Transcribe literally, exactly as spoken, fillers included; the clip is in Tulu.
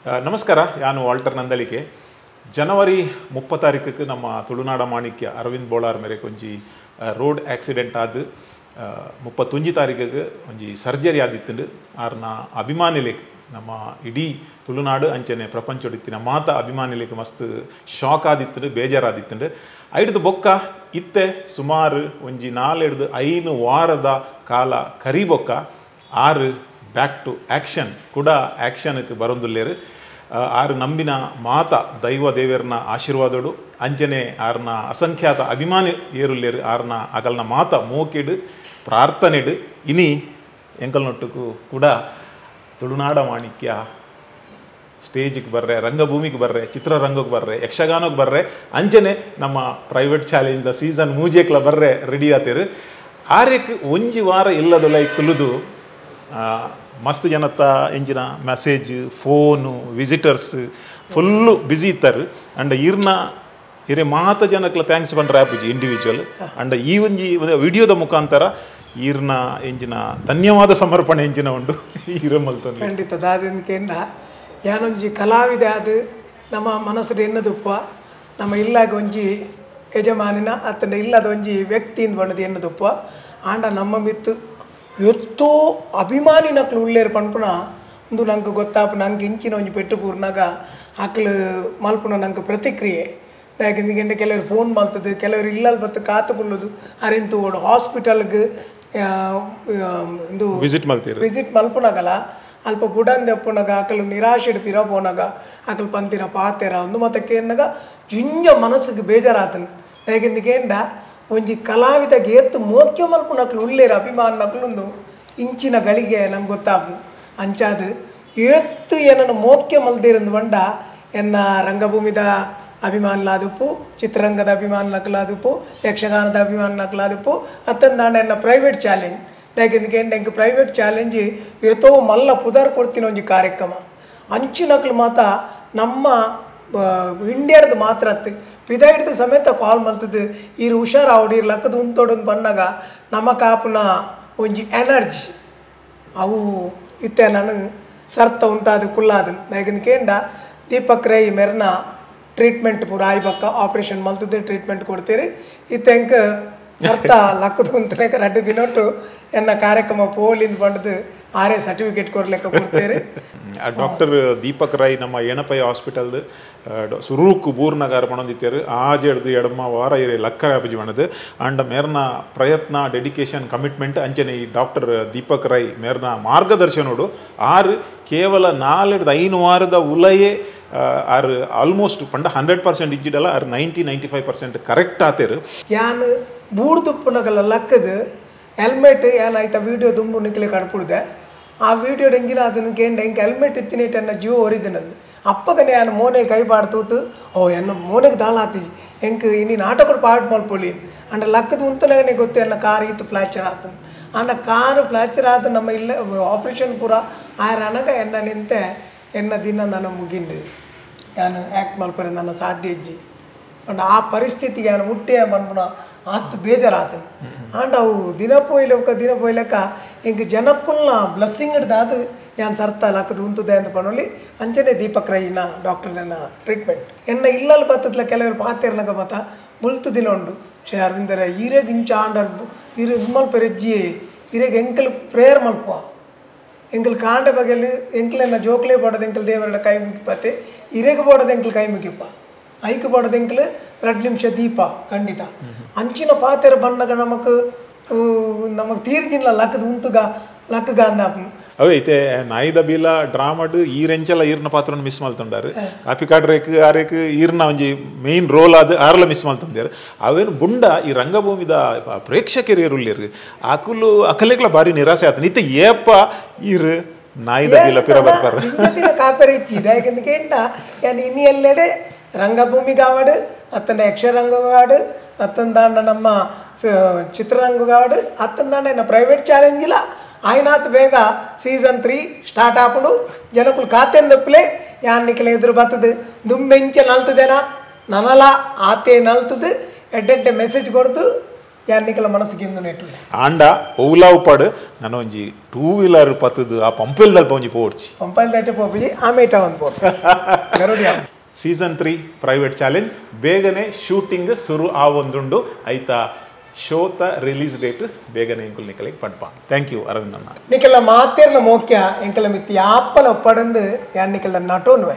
ನಮಸ್ಕಾರ, ನಾನು ವಾಲ್ಟರ್ ನಂದಳಿಕೆ. ಜನವರಿ ಮುಪ್ಪ ತಾರೀಕಕ್ಕೆ ನಮ್ಮ ತುಳುನಾಡ ಮಾಣಿಕ್ಯ ಅರವಿಂದ್ ಬೋಳಾರ್ ಮೇರೆ ಒಂಜಿ ರೋಡ್ ಆಕ್ಸಿಡೆಂಟ್ ಆದ ಮುಪ್ಪತ್ತೊಂಜಿ ತಾರೀಕಿಗೆ ಒಂಜಿ ಸರ್ಜರಿ ಆದಿತ್ತುಂಡು. ಆರ್ನ ಅಭಿಮಾನಿಲೇಕ್ ನಮ್ಮ ಇಡೀ ತುಳುನಾಡು ಅಂಚನೆ ಪ್ರಪಂಚೊಡಿತ್ತಿನ ಮಾತ ಅಭಿಮಾನಿಲೇಕ್ ಮಸ್ತ್ ಶಾಕ್ ಆದಿತ್ತುಂಡು, ಬೇಜಾರಾದಿತ್ತುಂಡು. ಐಡ್ದು ಬೊಕ್ಕ ಇತ್ತೆ ಸುಮಾರು ಒಂಜಿ ನಾಲೆಡ್ದು ಐನು ವಾರದ ಕಾಲ ಕರಿಬೊಕ್ಕ ಆರು back to action ಕೂಡ ಆ್ಯಕ್ಷನ್ಗೆ ಬರೊಂದುಲ್ಲೇರು. ಆರು ನಂಬಿನ ಮಾತ ದೈವ ದೇವರನ ಆಶೀರ್ವಾದೋಡು ಅಂಚನೆ ಆರ್ನ ಅಸಂಖ್ಯಾತ ಅಭಿಮಾನಿ ಏರುಲ್ಲೇರು. ಆರ್ನ ಅಗಲ್ನ ಮಾತ ಮೋಕೆಡು ಪ್ರಾರ್ಥನೆಡು ಇನಿ ಎಂಕಲ್ನೊಟ್ಟುಕು ಕೂಡ ತುಳುನಾಡ ಮಾಣಿಕ್ಯ ಸ್ಟೇಜಿಗೆ ಬರ್ರೆ, ರಂಗಭೂಮಿಗೆ ಬರ್ರೆ, ಚಿತ್ರರಂಗಕ್ಕೆ ಬರ್ರೆ, ಯಕ್ಷಗಾನಕ್ಕೆ ಬರ್ರೆ, ಅಂಚನೆ ನಮ್ಮ ಪ್ರೈವೇಟ್ ಚಾಲೆಂಜ್ದ ಸೀಸನ್ ಮೂಜೇಕ್ಲ ಬರ್ರೆ ರೆಡಿ ಆತೇರು. ಆರೇಕ್ ಒಂಜಿ ವಾರ ಇಲ್ಲದೊಲ ಕುಲುದು ಮಸ್ತ್ ಜನತ್ತ ಎಂಜಿನ message, phone, visitors full busy ಇತ್ತಾರೆ. ಅಂಡ್ ಇರ್ನ ಇರೆ ಮಾತ ಜನಕ್ಲ thanks ಪಂಡ್ರೆ ಆಪುಜಿ ಇಂಡಿವಿಜುವಲ್. ಅಂಡ್ ಈ ಒಂಜಿ ವಿಡಿಯೋದ ಮುಖಾಂತರ ಈರ್ನ ಎಂಜಿನ ಧನ್ಯವಾದ ಸಮರ್ಪಣೆ ಎಂಜಿನ ಉಂಡು ಈರಮಲ್ತೊಂದು ಖಂಡಿತ ದಾದಿನ ಕೇಂದ್ರ ಯಾನೊಂಜಿ ಕಲಾವಿದೆ ಅದು ನಮ್ಮ ಮನಸ್ಸು ಎನ್ನದುಪ್ಪ ನಮ್ಮ ಇಲ್ಲಾಗ ಒಂಜಿ ಯಜಮಾನಿನ ಅತ್ತಂಡ ಇಲ್ಲದ ಒಂಜಿ ವ್ಯಕ್ತಿಯಿಂದ ಬಣ್ಣದ ಎನ್ನದುಪ್ಪ ಆಂಡ ನಮ್ಮ ಮಿತ್ತು ಎತ್ತೋ ಅಭಿಮಾನಿ ನಕ್ಲು ಉಳ್ಳೇರು ಪನ್ಪುನ ಒಂದು ನಂಗೆ ಗೊತ್ತಾಪ ನಂಗೆ ಇಂಚಿನ ಒಂಜಿ ಪೆಟ್ಟು ಪೂರ್ನಾಗ ಆಕಲು ಮಲ್ಪುನ ನಂಗೆ ಪ್ರತಿಕ್ರಿಯೆ. ಯಾಕೆಂದ್ರೆ ಕೆಲವರು ಫೋನ್ ಮಲ್ತದೆ, ಕೆಲವರು ಇಲ್ಲಲ್ಲಿ ಬತ್ತು ಕಾತುಕೊಳ್ಳೋದು, ಅರಿಂತು ಓಡು ಹಾಸ್ಪಿಟಲ್ಗೆ ಇದು ವಿಸಿಟ್ ಮಲ್ತೀರಿ, ವಿಸಿಟ್ ಮಲ್ಪುನಾಗಲ್ಲ ಅಲ್ಪ ಬುಡಂದೆ ಅಪ್ಪುನಾಗ ಆಕಲು ನಿರಾಶೆ ಪಿರ ಪೋನಾಗ ಆಕಲು ಪಂತಿನ ಪಾತೆರ ಒಂದು ಮತ್ತೆ ಕೇನಾಗ ಜಿಂಜ ಮನಸ್ಸಿಗೆ ಬೇಜಾರಾತನು. ಯಾಕೆಂದ್ರೆ ಕೇಂಡ ಒಂಜಿ ಕಲಾವಿದಗೆ ಏತ್ತು ಮೋಕ್ಯ ಮಲ್ಪುನಕ್ಲು ಉಳ್ಳೇರು ಅಭಿಮಾನ ನಕ್ಲೊಂದು ಇಂಚಿನ ಗಳಿಗೆ ನಂಗೆ ಗೊತ್ತಾಪು. ಅಂಚಾದು ಏತ್ತು ಏನನ್ನು ಮೋಕ್ಯ ಮಲ್ದಿರಂದು ಬಂಡ ಎನ್ನ ರಂಗಭೂಮಿದ ಅಭಿಮಾನಲಾದುಪ್ಪು, ಚಿತ್ರರಂಗದ ಅಭಿಮಾನಕ್ಲಾದುಪ್ಪು, ಯಕ್ಷಗಾನದ ಅಭಿಮಾನಕ್ಲಾದುಪ್ಪು, ಅತ್ತಂದಾಂಡ ಎನ್ನ ಪ್ರೈವೇಟ್ ಚಾಲೆಂಜ್. ಯಾಕೆಂದ್ರೆ ಎಂಕ್ ಪ್ರೈವೇಟ್ ಚಾಲೆಂಜ್ ಏತೋ ಮಲ್ಲ ಪುದಾರ್ ಕೊಡ್ತೀನಿ ಒಂಜಿ ಕಾರ್ಯಕ್ರಮ ಅಂಚಿನಕ್ಲು ಮಾತ ನಮ್ಮ ಇಂಡಿಯಾದ ಮಾತ್ರ ಅತ್ತು ಪಿದ ಹಿಡ್ದು ಸಮೇತ ಕಾಲ್ ಮಲ್ತದ್ದು ಈರು ಹುಷಾರಾವಡಿ ಲಕ್ಕದ ಉಂತೋಡೊಂದು ಬಂದಾಗ ನಮ್ಮ ಕಾಪುನ ಒಂಜಿ ಎನರ್ಜಿ ಅವು ಇತ್ತೆ ನಾನು ಸರ್ತ ಉಂತಾದ ಕುಲ್ಲಾದನ್. ಯಾಕೆಂದ್ರೆ ಕೇಂಡ ದೀಪಕ್ ರೈ ಮೆರ್ನ ಟ್ರೀಟ್ಮೆಂಟ್ ಪೂರ ಆಯ್ಬಕ್ಕ ಆಪ್ರೇಷನ್ ಮಲ್ತದ್ದು ಟ್ರೀಟ್ಮೆಂಟ್ ಕೊಡ್ತೀರಿ. ಇತ್ತೆ ಅರ್ಥ ಲಕ್ಕದ ಉಂತಲೇಕ ರಡ್ಡು ದಿನೊಟ್ಟು ಎನ್ನ ಕಾರ್ಯಕ್ರಮ ಪೋಲಿಂದ ಬಂಡದು ಆರೇ ಸರ್ಟಿಫಿಕೇಟ್ ಕೊಡ್ಲಿಕ್ಕೆ ಕೊಡ್ತೀರಿ. ಡಾಕ್ಟರ್ ದೀಪಕ್ ರೈ ನಮ್ಮ ಏನಪೈ ಹಾಸ್ಪಿಟಲ್ ಸುರೂಕು ಬೂರ್ನಗಾರ ಪಣೊಂದಿತ್ತೇರು. ಆಜೆಡ್ದು ಎಡಮ ವಾರ ಇರೆ ಲಕ್ಕರ ಅಭಿಜಿ ಬಣ್ಣದು. ಅಂಡ್ ಮೇರ್ನ ಪ್ರಯತ್ನ, ಡೆಡಿಕೇಶನ್, ಕಮಿಟ್ಮೆಂಟ್ ಅಂಚನೆ ಈ ಡಾಕ್ಟರ್ ದೀಪಕ್ ರೈ ಮೇರ್ನ ಮಾರ್ಗದರ್ಶನೋಡು ಆರು ಕೇವಲ ನಾಲೆಡ್ದು ಐನು ವಾರದ ಉಲಯೇ ಆರು ಆಲ್ಮೋಸ್ಟ್ ಪಂಡ ಹಂಡ್ರೆಡ್ ಪರ್ಸೆಂಟ್ ಇಜ್ಜಿಡಲ್ಲ ಆರು ninety ninety five percent correct ಆತೇರು. ಯಾನ್ ಬೂಡ್ದುಪ್ಪುನಗಲ್ಲ ಲಕ್ಕದು ಹೆಲ್ಮೆಟ್ ಏನಾಯ್ತಾ ವೀಡಿಯೋ ದುಂಬು ನಿಕ್ಲೆ ಕಡ್ಪುಡ್ದೆ ಆ ವೀಡಿಯೋ ಎಂಜಿನ ಅದನ್ನು ಕೇಂಡ ಹಿಂಗೆ ಹೆಲ್ಮೆಟ್ ಇತ್ತಿನೇಟ್ ಎನ್ನ ಜೀವ ಒರಿದಿನಂದು ಅಪ್ಪಗನೆ ಯಾನು ಮೋನೆ ಕೈ ಪಾಡ್ತೂತು ಓ ಎನ್ನ ಮೋನೆಗೆ ದಾಳ ಆತಿಜಿ ಎಂಕ್ ಇನಿ ನಾಟಕ ಪಾಡ್ ಮಲ್ಪೊಳಿ ಅಂಡ ಲಕ್ಕದ ಉಂತನಗನೆ ಗೊತ್ತು ಎನ್ನ ಕಾರ್ ಇತ್ತು ಫ್ಲಾಚರ್ ಆತನು. ಅಂಡ ಕಾರು ಫ್ಲಾಚರ್ ಆದ ನಮ್ಮ ಇಲ್ಲ ಆಪ್ರೇಷನ್ ಪೂರ ಆಯರ ಅನಗ ಎನ್ನ ನಿಂತೆ ಎನ್ನ ದಿನ ನಾನು ಮುಗಿಂಡು ನಾನು ಆ್ಯಕ್ಟ್ ಮಲ್ಪರೆ ನನ್ನ ಸಾಧ್ಯ ಇಜ್ಜಿ ಅಂಡ ಆ ಪರಿಸ್ಥಿತಿಗೆ ನಾನು ಮುಟ್ಟೆ ಮನ್ಪುನ ಆತು ಬೇಜಾರಾತನು. ಆಂಡ ಅವು ದಿನ ಪೋಯ್ಲಕ್ಕ ದಿನ ಪೋಯ್ಲಕ್ಕ ಹಿಂಗೆ ಜನಕ್ಕುಲ್ನ ಬ್ಲೆಸ್ಸಿಂಗ್ ಹಿಡ್ದಾದ ಯಾನ್ ಸರ್ತ ಲಕ್ಕದ ಉಂತದೆ ಅಂತ ಪನೊಲಿ ಅಂಚನೆ ದೀಪಕ್ ರೈನ ಡಾಕ್ಟರ್ನ ಟ್ರೀಟ್ಮೆಂಟ್ ಎನ್ನ ಇಲ್ಲಲ್ಲಿ ಬತ್ತದ್ಲ ಕೆಲವರು ಪಾತೆರ್ನಗ ಮತ ಮುಲ್ತು ದಿನ ಉಂಡು ಶೇ ಅರವಿಂದರ ಈರೇಗ್ ಇಂಚ ಆಂಡರ್ ಈರೆ ಇದು ಮಲ್ಪೆರೆಜ್ಜಿ ಈರೇಗ್ ಎಂಕಲ್ ಪ್ರೇಯರ್ ಮಲ್ಪ ಎಂಕಲ್ ಕಾಂಡ ಬಗೆಯಲ್ಲಿ ಎಂಕ್ಲೆನ್ನ ಜೋಕ್ಲೆ ಬೋಡದ ಎಂಕಲ್ ದೇವರ ಕೈ ಮುಗಿಪತ್ತೆ ಇರೆಗ್ ಬೋಡದ ಎಂಕಲ್ ಕೈ ಮುಗಿಪ ಐಕ್ ಬೋಡದ ಎಂಕಲ್ ಎರಡು ನಿಮಿಷ ದೀಪ ಖಂಡಿತ ಅಂಚಿನ ಪಾತೆರ ಬಣ್ಣಗ ನಮಕ್ ನಮಗ್ ತೀರ್ಜಿಲ್ಲ ಲಕ್ಕದ ಉಂತುಗ ಲಕ್ಕಗ ಅಂದ. ಅವೇ ಐತೆ ನಾಯಿದ ಬೀಲ ಡ್ರಾಮಡ್ ಈರೆಂಚಲ ಈರ್ನ ಪಾತ್ರನ ಮಿಸ್ ಮಲ್ತೊಂಡಾರು. ಕಾಪಿ ಕಾಡ್ರೇಕ್ ಆರೇಕ್ ಈರ್ನ ಒಂಜಿ ಮೇನ್ ರೋಲ್ ಆದ ಆರ್ಲ ಮಿಸ್ ಮಲ್ತೊಂದೇರು. ಅವೇನು ಬುಂಡ ಈ ರಂಗಭೂಮಿದ ಪ್ರೇಕ್ಷಕರು ಏರುಲ್ಲೇರು ಅಕುಲು ಅಕಲೆಗ್ಲ ಬಾರಿ ನಿರಾಸೆ ಆತ ನಿತ್ಯ ಏಪ ಈರು ನಾಯಿದ ಬೀಲ ಪಿರ ಬರ್ತಾರೆ ಕಾಪರೆ ಇಚ್ಚಿದೆ. ಯಾಕಂದ್ರೆ ಕೇಂಡ ಯಾನ್ ಇನಿ ಎಲ್ಲೆಡೆ ರಂಗಭೂಮಿಗಾವಡು ಅತ್ತಂಡ ಯಕ್ಷರಂಗಗಾಡು ಅತ್ತಂದಾಂಡ ನಮ್ಮ ಚಿತ್ರರಂಗಗಾಡು ಅತ್ತಂದಾಂಡ ಎನ್ನ ಪ್ರೈವೇಟ್ ಚಾಲೆಂಜ್ ಇಲ್ಲ ಆಯ್ನಾತ್ ಬೇಗ season three start ಆಪುಂಡು ಜನಕುಲು ಕಾತೆಂದಪ್ಪಲೆ ಯಾನ್ ನಿಕಲೆ ಎದುರು ಬತ್ತದು ದುಂಬೆಂಚ ನಲ್ತದೇನ ನನಲ ಆತೆ ನಲ್ತದು ಎಡ್ಡೆಡ್ಡೆ ಮೆಸೇಜ್ ಕೊಡ್ದು ಯಾನ್ ನಿಕಲ ಮನಸ್ಸಿಗೆ ಇಂದು ನೆಟ್ಟು ಆಂಡ ಓಲಾವ್ ಪಾಡು ನಾನು ಒಂಜಿ ಟೂ ವೀಲರ್ ಪತ್ತದು ಆ ಪಂಪೆಲ್ ದಲ್ಪ ಒಂಜಿ ಪೋಡ್ಚಿ ಪಂಪಲ್ ದಾಟೆ ಪೋಪಿಜಿ ಆಮೇಟ ಒಂದು ಪೋ ಗರುಡಿ ಸೀಸನ್ ತ್ರೀ ಪ್ರೈವೇಟ್ ಚಾಲೆಂಜ್ ಬೇಗನೆ ಶೂಟಿಂಗ್ ಶುರು ಆವೊಂದುಂಡು ಐತ ಶೋತ ರಿಲೀಸ್ ಡೇಟ್ ಬೇಗನೆ ಇಂಕುಲ್ ನಿಕಲಿಗೆ ಪಡ್ಪ. Thank you Arvind ಅಣ್ಣ. ನಿಕಲ ಮಾತೇರ್ನ ಮೋಕ್ಯ ಎಂಕಲ ಮಿತ್ತಿ ಯಾಪಲ ಒಪ್ಪಡಂದು ಯಾನ್ ನಿಕಲ ನಟೋನ್ವೆ.